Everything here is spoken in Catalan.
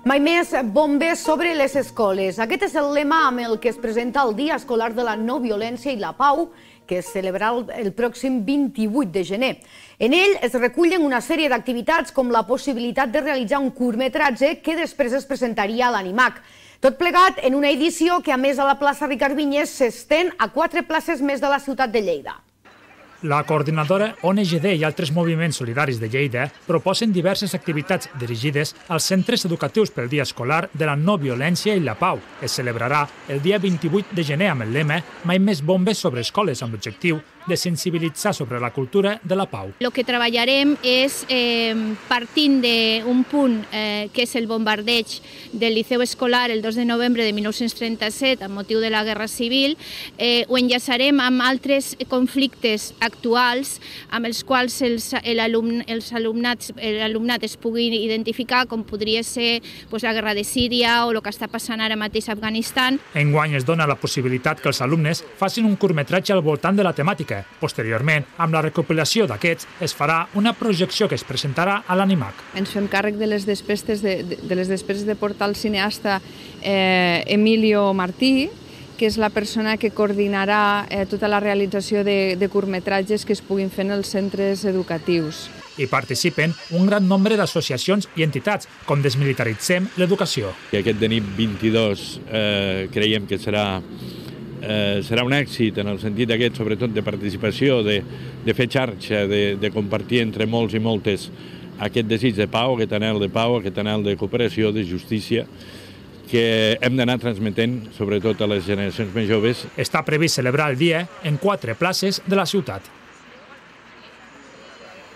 Mai més bombes sobre les escoles. Aquest és el lema amb el que es presenta el Dia Escolar de la No Violència i la Pau, que es celebrarà el pròxim 28 de gener. En ell es recullen una sèrie d'activitats com la possibilitat de realitzar un curtmetratge que després es presentaria a l'Animac. Tot plegat en una edició que, a més, a la plaça Ricard Vinyes s'estén a 4 places més de la ciutat de Lleida. La coordinadora ONGD i altres moviments solidaris de Lleida proposen diverses activitats dirigides als centres educatius pel Dia Escolar de la No Violència i la Pau. Es celebrarà el dia 28 de gener amb el lema Mai més bombes sobre escoles, amb l'objectiu de sensibilitzar sobre la cultura de la pau. El que treballarem és, partint d'un punt que és el bombardeig del Liceu Escolar el 2 de novembre de 1937 amb motiu de la Guerra Civil, ho enllaçarem amb altres conflictes actuals amb els quals l'alumnat es pugui identificar, com podria ser la guerra de Síria o el que està passant ara mateix a Afganistan. Enguany es dona la possibilitat que els alumnes facin un curtmetratge al voltant de la temàtica. Posteriorment, amb la recopilació d'aquests, es farà una projecció que es presentarà a l'Animac. Ens fem càrrec de les despeses de portar el cineasta Emilio Martí, que és la persona que coordinarà tota la realització de curtmetratges que es puguin fer en els centres educatius. Hi participen un gran nombre d'associacions i entitats, com Desmilitaritzem l'Educació. Aquest de nit 22 creiem que serà un èxit en el sentit aquest, sobretot de participació, de fer xarxa, de compartir entre molts i moltes aquest desig de pau, aquest anhel de pau, aquest anhel de cooperació, de justícia, que hem d'anar transmetent, sobretot a les generacions més joves. Està previst celebrar el dia en 4 places de la ciutat.